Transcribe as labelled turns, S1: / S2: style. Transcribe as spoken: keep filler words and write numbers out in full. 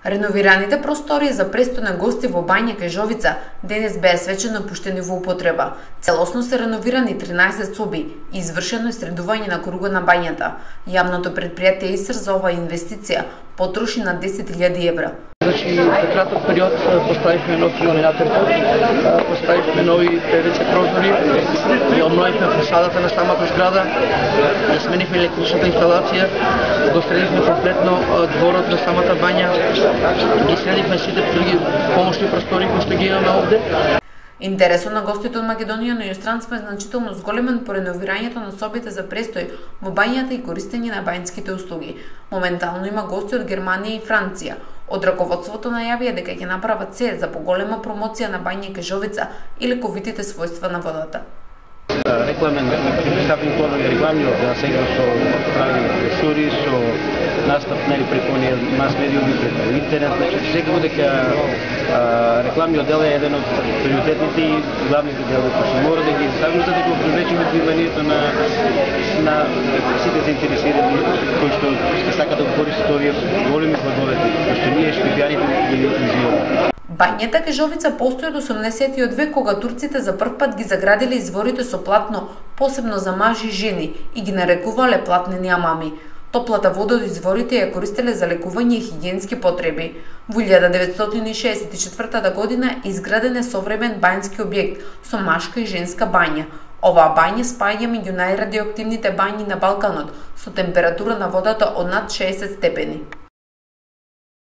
S1: Реновираните простории за престојни гости во бања Кажовица денес беа свечено пуштени во употреба. Целосно се реновирани тринаесет соби и извршено е средување на кругот на бањата. Јавното предпријатие ИСР за оваа инвестиција потроши на десет илјади евра.
S2: Значи, за краток период поставивме нов ионизатор пот, поставивме нови ПВЦ прозори, ја обновивме фасадата на самата зграда, ја сменивме електричната инсталација, го средивме комплетно дворот на самата бања, ги средивме сите други помошни простори кои што ги имаме овде.
S1: Интересот на гостите од Македонија на иностранство е значително зголемен по реновирањето на собите за престој во бањата и користење на бањските услуги. Моментално има гости од Германија и Франција. Од раководството најавија дека ќе направат се за поголема промоција на бања Кажовица и лековитите својства на водата.
S3: Рекламен представен план на реклами од сега со прави ресори, со настап нели преку мас медиуми, преку интернет, значи секако дека рекламниот дел е еден од приоритетните и главните делови кои се мора да ги ставиме за да го привлечеме вниманието на на сите заинтересирани кои што ќе сакаат да го користат овие големи плодове кои што ние шпијаните ги изживуваме.
S1: Бањата Кажовица постои од осумдесетиот век, кога турците за прв пат ги заградиле изворите со платно, посебно за мажи и жени, и ги нарекувале платнени амами. Топлата вода од изворите ја користеле за лекување и хигиенски потреби. Во илјада деветстотини и шеесет и четвртата година изграден е современ бањски објект со машка и женска бања. Оваа бања спаѓа меѓу најрадиоактивните бањи на Балканот, со температура на водата од над шеесет степени.